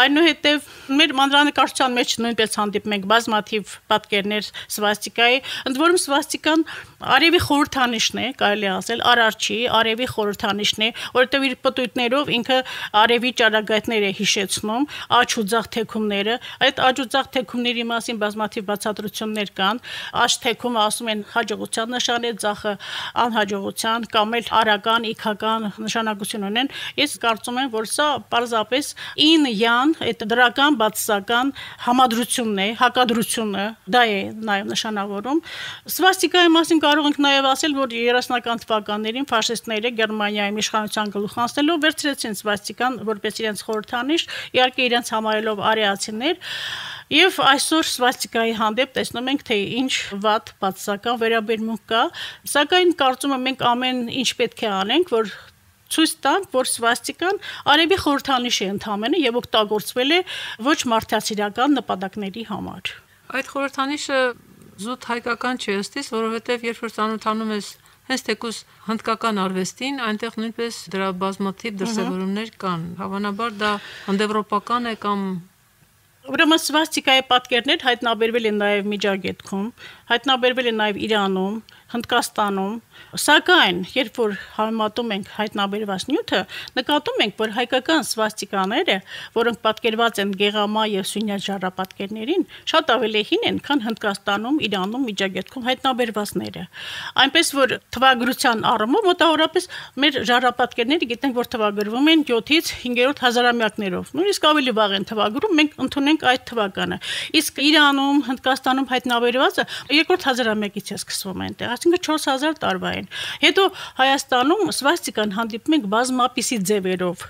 այնուհետեւ մեր մանրանկարչության մեջ նույնպես հանդիպում ենք բազմաթիվ պատկերներ սվաստիկայի, ընդ որում սվաստիկան արևի խորհրդանիշն է, կարելի է ասել, արարչի, արևի խորհրդանիշն է, որովհետեւ իր պտույտներով ինքը արևի ճառագայթներ է հիշեցնում, աջ ու ձախ թեքումները, այդ աջ ու ձախ թեքումների մասին բազմաթիվ բացատրություններ կան, աջ թեքումը ասում են հաջողության նշան է, ձախը անհաջողության կամ էլ արական, իքական նշանակություն ունեն։ Ես կարծում եմ, որ սա պարզապես ին յան, այդ դրական բացասական համադրությունն է, հակադրությունը, դա է նաև նշանավորում։ Սվաստիկայի մասին կարող ենք նաև ասել, որ երեսնական թվականներին ֆաշիստները Գերմանիայում իշխանության գլուխ անցնելով վերցրեցին սվաստիկան որպես իրենց խորհրդանիշ, իհարկե իրենց համարելով արիացիներ, եւ այսօր սվաստիկայի հանդեպ տեսնում ենք, թե ինչ վատ բացասական վերաբերմունք կա, սակայն կարծում եմ մենք ամեն ինչ պետք է անենք, որ ցույց տանք, որ սվաստիկան արևի խորհրդանիշ է ընդհանրապես եւ օգտագործվել է ոչ մարդասիրական նպատակների համար։ Այդ խորհրդանիշը զուտ հայկական չէ ըստիս, որովհետև երբ որ ծանոթանում ես հենց թեկուզ հնդկական արվեստին, այնտեղ նույնպես դրա բազմաթիվ դրսևորումներ կան։ Հավանաբար դա հնդեվրոպական է կամ Ուրեմն սվաստիկայի պատկերներ հայտնաբերվել են նաև Միջագետքում, հայտնաբերվել են նաև Իրանում, Հնդկաստանում, սակայն երբ որ համեմատում ենք հայտնաբերված նյութը, նկատում ենք, որ հայկական սվաստիկաները, որոնք պատկերված են գեղամա եւ սյունյաց ժառապատկերներին, շատ ավելի հին են, քան Հնդկաստանում, Իրանում, Միջագետքում հայտնաբերվածները։ Այնպես որ թվագրության առումով մոտավորապես մեր ժառապատկերները գիտենք, որ թվագրվում են յոթից հինգերորդ հազարամյակներով։ Նույնիսկ ավելի վաղ են թվագրում, մենք ընդունենք այդ թվականը։ Իսկ Իրանում, Հնդկաստանում հայտնաբերվածը երկրորդ հազարամյակից է սկսվում այնտեղ, այսինքն չորս հազար տարվա են։ Հետո Հայաստանում սվաստիկան հանդիպում ենք բազմապիսի ձևերով։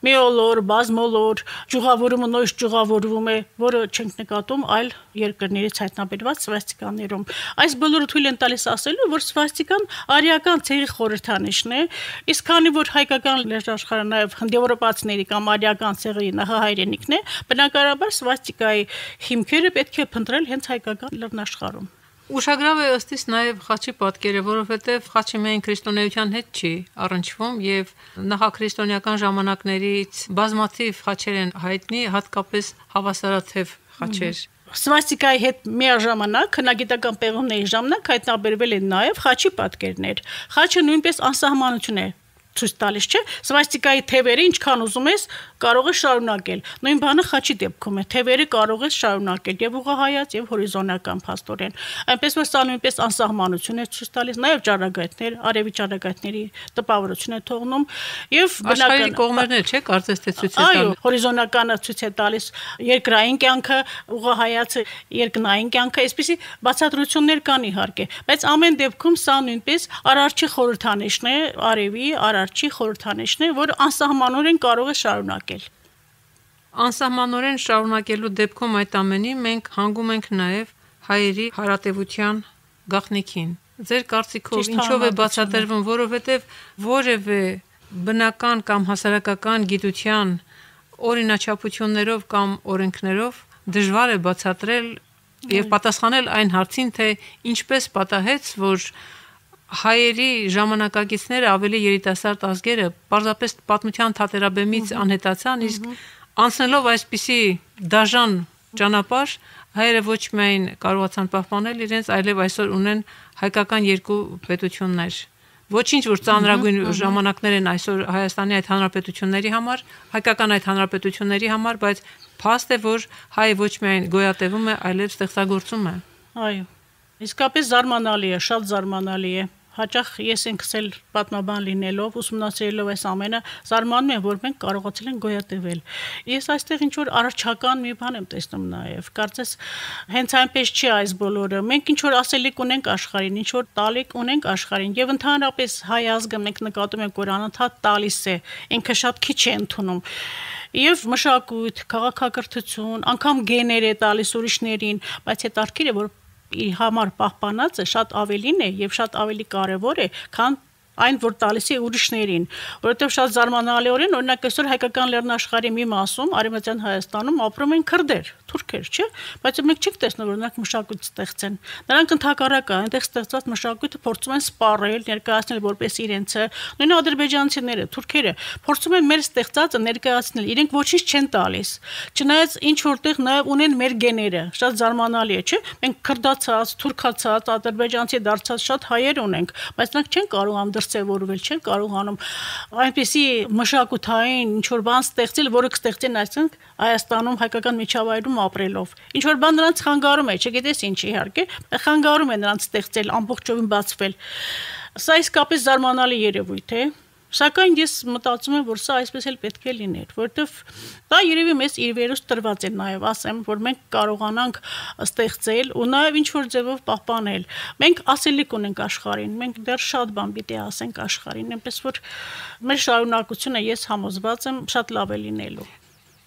Միոլոր, բազմոլոր, ճյուղավորումը նույնիսկ ճյուղավորվում է, որը չենք նկատում այլ երկրներից հայտնաբերված սվաստիկաներում։ Այս բոլորը թույլ են տալիս ասելու, որ սվաստիկան արիական ցեղի խորհրդանիշն է, իսկ քանի որ հայկական լեզուաշխարհը նաև հնդեվրոպացիների կամ արիական ցեղի նախահայրենիքն է, բնականաբար սվաստիկայի հիմքերը պետք է փնտրել հենց հայկական լեռնաշխարհում։ Ուշագրավ է ըստիս նաև խաչի պատկերը, որովհետև խաչը միայն քրիստոնեության հետ չի առնչվում եւ նախաքրիստոնեական ժամանակներից բազմաթիվ խաչեր են հայտնի, հատկապես հավասարաթև խաչեր։ Սվաստիկայի հետ միաժամանակ հնագիտական պեղումների ժամանակ հայտնաբերվել են նաև խաչի պատկերներ։ Խաչը նույնպես անսահմանություն է ցույց տալիս, չէ՞։ Սվաստիկայի թևերը ինչքան ուզում ես կարող ես շարունակել։ Նույն բանը խաչի դեպքում է։ Թևերը կարող ես շարունակել եւ ուղղահայաց եւ հորիզոնական փաստորեն։ Այնպես որ սա նույնպես անսահմանություն է ցույց տալիս, նաեւ ճառագայթներ, արևի ճառագայթների տպավորություն է թողնում եւ բնական կողմերն չէ, կարծես թե ցույց է տալիս։ Այո, հորիզոնականը ցույց է տալիս երկրային կյանքը, ուղղահայացը երկնային կյանքը, այսպիսի բացատրություններ կան իհարկե, բայց ամեն դեպքում սա նույնպես արարչի խորհրդանիշն է, արևի արարչի խորհրդանիշն է, որ անսահմանորեն կարող է շարունակել։ Անսահմանորեն շարունակելու դեպքում այդ ամենի մենք հանգում ենք նաև հայերի հարատևության գաղտնիքին։ Ձեր կարծիքով ինչով է բացատրվում, որովհետև որևէ բնական կամ հասարակական գիտության օրինաչափություններով կամ օրենքներով դժվար է բացատրել եւ պատասխանել այն հարցին, թե ինչպես պատահեց, որ հայերի ժամանակակիցները ավելի երիտասարդ ազգերը պարզապես պատմության թատերաբեմից անհետացան, իսկ անցնելով այսպիսի դաժան ճանապարհ հայերը ոչ միայն կարողացան պահպանել իրենց, այլև այսօր ունեն հայկական երկու պետություններ։ Ոչինչ որ ծանրագույն ժամանակներ են այսօր Հայաստանի այդ հանրապետությունների համար, հայկական այդ հանրապետությունների համար, բայց փաստ է, որ հայը ոչ միայն գոյատևում է, այլև ստեղծագործում է։ Այո։ Իսկապես զարմանալի է, շատ զարմանալի է։ հաճախ ես ինքս էլ պատմաբան լինելով, ուսումնասիրելով այս ամենը, զարմանում եմ, որ մենք կարողացել ենք գոյատևել։ Ես այստեղ ինչ որ առողջական մի բան եմ տեսնում նաև։ Կարծես հենց այնպես չի այս բոլորը։ Մենք ինչ որ ասելիք ունենք աշխարհին, ինչ որ տալիք ունենք աշխարհին, եւ ընդհանրապես հայ ազգը մենք նկատում ենք, որ անընդհատ տալիս է, ինքը շատ քիչ է ընդունում։ Եվ մշակույթ, քաղաքակրթություն, անգամ գեներ է տալիս ուրիշներին, բայց հետաքրքիր է, որ իր համար պահպանածը շատ ավելին է եւ շատ ավելի կարեւոր է, քան այն, որ տալիս է ուրիշներին, որովհետև շատ զարմանալիորեն, օրինակ այսօր հայկական լեռնաշխարհի մի մասում, Արևմտյան Հայաստանում ապրում են քրդեր, թուրքեր, չէ՞, բայց մենք չենք տեսնում, որ նրանք մշակույթ ստեղծեն։ Նրանք ընդհակառակը այնտեղ ստեղծած մշակույթը փորձում են սպառել, ներկայացնել որպես իրենցը, նույն ադրբեջանցիները, թուրքերը փորձում են մեր ստեղծածը ներկայացնել, իրենք ոչինչ չեն տալիս։ Չնայած ինչ որտեղ նաև ունեն մեր գեները, շատ զարմանալի է, չէ՞։ Մենք քրդացած, թուրքացած, ադրբեջանցի դարձած շատ հայեր ունենք, բայց նրանք չեն կարողանում դրսևորվել, չեն կարողանում այնպեսի մշակութային ինչ-որ բան ստեղծել, որը կստեղծեն այսինքն Հայաստանում հայկական միջավայրում ապրելով։ Ինչ-որ բան նրանց խանգարում է, չգիտես ինչ իհարկե, խանգարում է նրանց ստեղծել, ամբողջովին բացվել։ Սա իսկապես զարմանալի երևույթ է։ Սակայն ես մտածում եմ, որ սա այսպես էլ պետք է լիներ, որովհետև դա երևի մեզ իր վերուս տրված է նաև, ասեմ, որ մենք կարողանանք ստեղծել ու նաև ինչ-որ ձևով պահպանել։ Մենք ասելիք ունենք աշխարհին, մենք դեռ շատ բան պիտի ասենք աշխարհին, այնպես որ մեր շարունակությունը ես համոզված եմ շատ լավ է լինելու։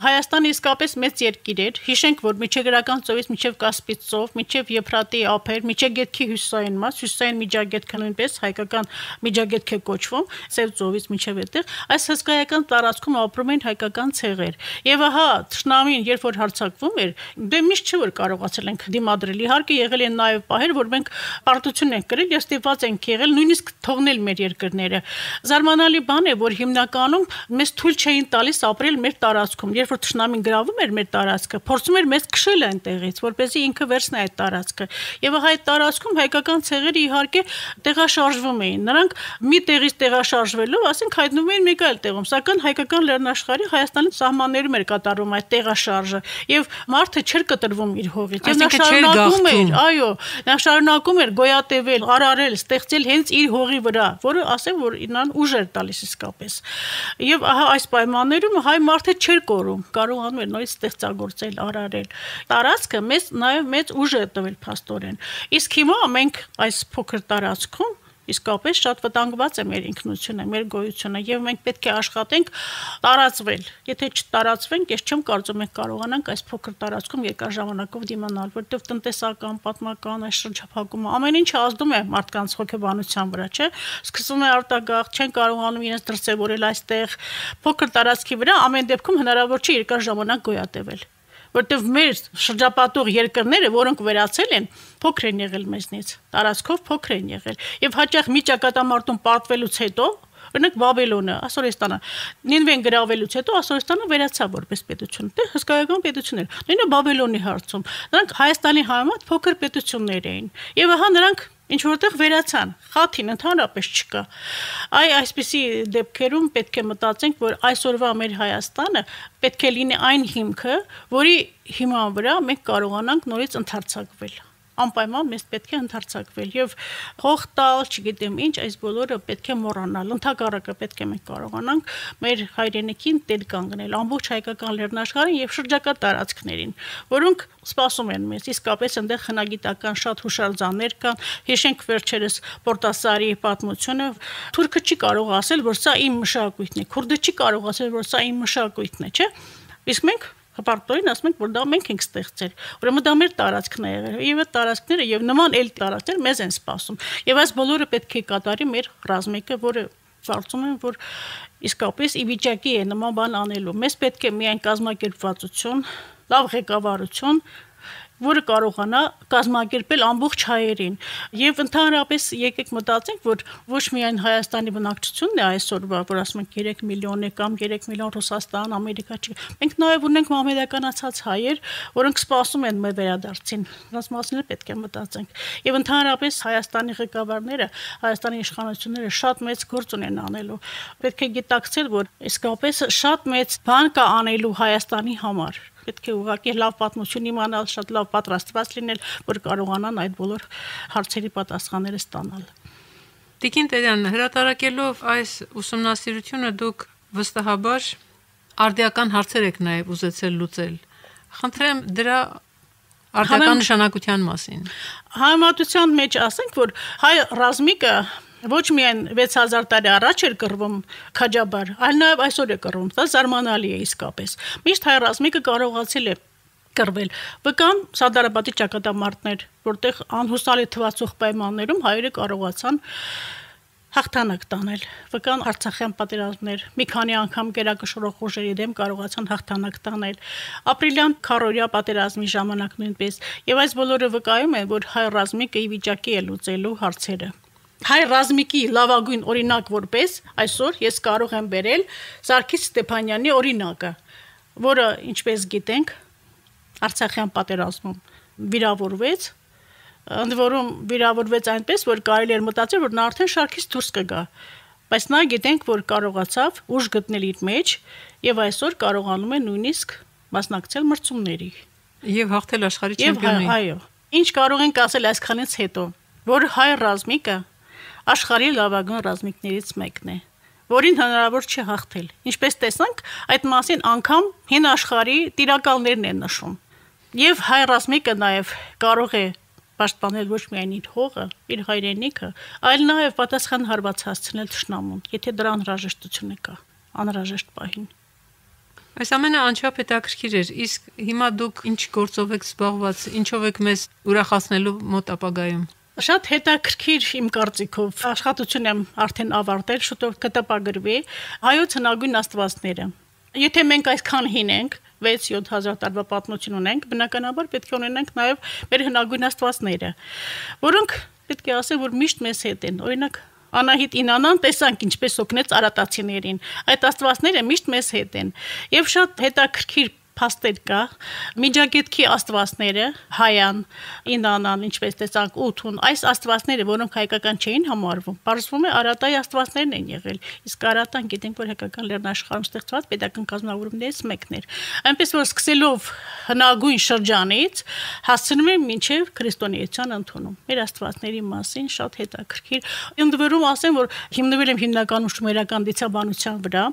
Հայաստանը իսկապես մեծ երկիր էր, հիշենք, որ միջեգրական ծովից մինչև Կասպից ծով, մինչև Եփրատի ափեր, մինչև Գետքի հյուսիսային մաս, հյուսիսային միջագետքը նույնպես հայկական միջագետք է կոչվում, Սև ծովից մինչև այդտեղ, այս հսկայական տարածքում ապրում են հայկական ցեղեր։ Եվ ահա թշնամին, երբ որ հարձակվում էր, դե միշտ չէ որ կարողացել ենք դիմադրել։ Իհարկե եղել են նաև պահեր, որ մենք պարտություն ենք կրել եւ ստիպված ենք եղել նույնիսկ թողնել մեր երկրները։ Զարմանալի բան է, որ հիմնականում մեզ թույլ չէին տալիս ապրել մեր տարածքում։ Որ թշնամին գրավում էր մեր տարածքը, փորձում էր մեզ քշել այնտեղից, որպեսզի ինքը վերցնի այդ տարածքը։ Եվ այդ տարածքում հայկական ցեղերը իհարկե տեղաշարժվում էին։ Նրանք մի տեղից տեղաշարժվելով, ասենք հայտնվում էին մեկ այլ տեղում, սակայն հայկական լեռնաշխարհի Հայաստանի սահմաններում էր կատարվում այդ տեղաշարժը, եւ մարդը չէր կտրվում իր հողից։ Եվ նա շարունակում էր, այո, նա շարունակում էր գոյատևել, արարել, ստեղծել հենց իր հողի վրա, որը ասեմ, որ նրան ուժ էր տալիս իսկապես։ Եվ ահա այս պայմաններում հայ մարդը չէր կորում, կարողանում էր նորից ստեղծագործել, արարել։ Տարածքը մեզ նաև մեծ ուժ է տվել փաստորեն։ Իսկ հիմա մենք այս փոքր տարածքում իսկապես շատ վտանգված է մեր ինքնությունը, մեր գոյությունը, եւ մենք պետք է աշխատենք տարածվել։ Եթե չտարածվենք, ես չեմ կարծում մենք կարողանանք այս փոքր տարածքում երկար ժամանակով դիմանալ, որտեղ տնտեսական, պատմական այս շրջափակումը ամեն ինչը ազդում է մարդկանց հոգեբանության վրա, չէ՞։ Սկսվում է արտագաղթ, չեն կարողանում իրենց դրսևորել այստեղ փոքր տարածքի վրա, ամեն դեպքում հնարավոր չէ երկար ժամանակ գոյատևել։ Որտեվ մեր շրջապատող երկրները, որոնք վերացել են, փոքր են եղել մեզնից, տարածքով փոքր են եղել, եւ հաճախ մի ճակատամարտում պարտվելուց հետո, օրինակ Բաբելոնը, Ասորեստանը, Նինվեն գրավելուց հետո Ասորեստանը վերացավ որպես պետություն, դե հսկայական պետություն էր։ Նույնը Բաբելոնի հարցում, նրանք Հայաստանի համեմատ փոքր պետություններ էին, եւ ահա նրանք ինչ որտեղ վերացան, խաթին ընդհանրապես չկա։ Այ այսպիսի դեպքերում պետք է մտածենք, որ այսօրվա մեր Հայաստանը պետք է լինի այն հիմքը, որի հիման վրա մենք կարողանանք նորից ընդարձակվել։ Անպայման մեզ պետք է ընդարձակվել եւ հող տալ, չգիտեմ ինչ, այս բոլորը պետք է մոռանալ։ Ընդհակառակը պետք է մենք կարողանանք մեր հայրենիքին տեր կանգնել, ամբողջ հայկական լեռնաշխարհին եւ շրջակա տարածքներին, որոնք սպասում են մեզ։ Իսկապես այնտեղ հնագիտական շատ հուշարձաններ կան։ Հիշենք վերջերս Պորտասարի պատմությունը։ Թուրքը չի կարող ասել, որ սա իմ մշակույթն է, քուրդը չի կարող ասել, որ սա իմ մշակույթն է, չէ՞։ Իսկ մենք հպարտորեն ասում ենք, որ դա մենք ենք ստեղծել։ Ուրեմն դա մեր տարածքն է եղել, եւ այդ տարածքները եւ նման այլ տարածքներ մեզ են սպասում։ Եվ այս բոլորը պետք է կատարի մեր ռազմիկը, որը կարծում եմ, որ իսկապես ի վիճակի է նման բան անելու։ Մեզ պետք է միայն կազմակերպվածություն, լավ ղեկավարություն, որը կարողանա կազմակերպել ամբողջ հայերին։ Եվ ընդհանրապես եկեք մտածենք, որ ոչ միայն Հայաստանի բնակչությունն է այսօրվա, որ ասում ենք երեք միլիոն է կամ երեք միլիոն Ռուսաստան, Ամերիկա չի։ Մենք նաև ունենք մամեդականացած հայեր, որոնք սպասում են մեր վերադարձին։ Նրանց մասին պետք է մտածենք։ Եվ ընդհանրապես Հայաստանի ղեկավարները, Հայաստանի իշխանությունները շատ մեծ գործ ունեն անելու։ Պետք է գիտակցել, որ իսկապես շատ մեծ բան կա անելու Հայաստանի համար։ Պետք է ուղղակի լավ պատմություն իմանալ, շատ լավ պատրաստված լինել, որ կարողանան այդ բոլոր հարցերի պատասխանները ստանալ։ Տիկին Տերյան, հրատարակելով այս ուսումնասիրությունը դուք վստահաբար արդիական հարցեր եք նաև ուզեցել լուծել։ Խնդրեմ դրա արդիական նշանակության մասին։ Համատության մեջ ասենք, որ հայ ռազմիկը ոչ միայն վեց հազար տարի առաջ էր կռվում քաջաբար, այլ նաև այսօր է կռվում։ Դա զարմանալի է իսկապես։ Միշտ հայ ռազմիկը կարողացել է կռվել։ Վկան Սադարաբադի ճակատամարտներ, որտեղ անհուսալի թվացող պայմաններում հայերը կարողացան հաղթանակ տանել։ Վկան Արցախյան պատերազմներ, մի քանի անգամ գերակշռող ուժերի դեմ կարողացան հաղթանակ տանել։ Ապրիլյան քարորյա պատերազմի ժամանակ նույնպես։ Եվ այս բոլորը վկայում են, որ հայ ռազմիկը ի վիճակի է լուծելու հարցերը։ Հայ ռազմիկի լավագույն օրինակ որպես այսօր ես կարող եմ բերել Սարգիս Ստեփանյանի օրինակը, որը, ինչպես գիտենք, Արցախյան պատերազմում վիրավորվեց, ընդ որում վիրավորվեց այնպես, որ կարելի էր մտածել, որ նա արդեն շարքից դուրս կգա, բայց նա գիտենք, որ կարողացավ ուժ գտնել իր մեջ եւ այսօր կարողանում է նույնիսկ մասնակցել մրցումների եւ հաղթել աշխարհի չեմպիոնին։ Այո, ինչ կարող ենք ասել այսքանից հետո, որ հայ ռազմիկը աշխարհի լավագույն ռազմիկներից մեկն է, որին հնարավոր չի հաղթել։ Ինչպես տեսանք, այդ մասին անգամ հին աշխարհի տիրակալներն են նշում։ Եվ հայ ռազմիկը նաև կարող է պաշտպանել ոչ միայն իր հողը, իր հայրենիքը, այլ նաև պատասխան հարված հասցնել թշնամուն, եթե դրա անհրաժեշտությունը կա, անհրաժեշտ պահին։ Այս ամենը անչափ հետաքրքիր էր, իսկ հիմա դուք ինչ գործով եք զբաղված, ինչով եք մեզ ուրախացնելու մոտ ապագայում։ Շատ հետաքրքիր իմ կարծիքով աշխատություն եմ արդեն ավարտել, շուտով կտպագրվի հայոց հնագույն աստվածները։ Եթե մենք այսքան հին ենք, վեց-յոթ հազար տարվա պատմություն ունենք, բնականաբար պետք է ունենանք նաև մեր հնագույն աստվածները, որոնք պետք է ասել, որ միշտ մեզ հետ են։ Օրինակ Անահիտ Ինանան տեսանք ինչպես օգնեց արատացիներին։ Այդ աստվածները միշտ մեզ հետ են։ Եվ շատ հետաքրքիր փաստեր կա, Միջագետքի աստվածները, Հայան, Ինանան, ինչպես տեսանք, Ութուն, այս աստվածները, որոնք հայկական չէին համարվում, բարձվում է Արատայի աստվածներն են եղել։ Իսկ Արատան գիտենք, որ հայկական լեռնաշխարհում ստեղծված պետական կազմավորումներից մեկն էր։ Այնպես որ սկսելով հնագույն շրջանից հասցնում են մինչև քրիստոնեության ընդունում։ Մեր աստվածների մասին շատ հետաքրքիր։ Ընդ որում ասեմ, որ հիմնվել եմ հիմնականում շումերական դիցաբանության վրա։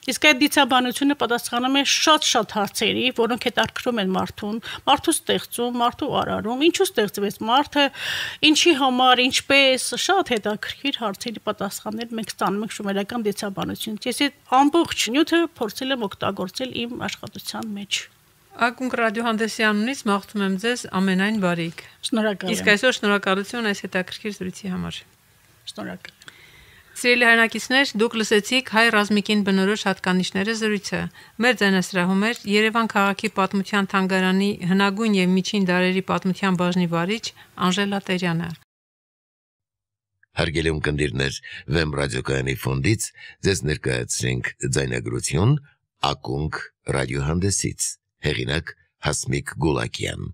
Իսկ այդ դիցաբանությունը պատասխանում է շատ-շատ հարցերի, որոնք հետաքրքրում են մարդուն, մարդու ստեղծում, մարդու արարում, ինչու ստեղծվեց մարդը, ինչի համար, ինչպես, շատ հետաքրքիր հարցերի պատասխաններ մենք ստանում ենք շումերական դիցաբանությունից։ Ես այդ ամբողջ նյութը փորձել եմ օգտագործել իմ աշխատության մեջ։ Ակունք ռադիոհանդեսի անունից մաղթում եմ ձեզ ամենայն բարիք։ Շնորհակալ եմ։ Իսկ այսօր շնորհակալություն այս հետաքրքիր զրույցի համար։ Շնորհակալ։ Սիրելի հայրենակիցներ, դուք լսեցիք հայ ռազմիկին բնորոշ հատկանիշները զրույցը։ Մեր ձայնասրահում էր Երևան քաղաքի պատմության թանգարանի հնագույն եւ միջին դարերի պատմության բաժնի վարիչ Անժելա Տերյանը։ Հարգելի ունկնդիրներ, Վեմ ռադիոկայանի ֆոնդից ձեզ ներկայացրինք ձայնագրություն Ակունք ռադիոհանդեսից։ Հեղինակ Հասմիկ Գուլակյան։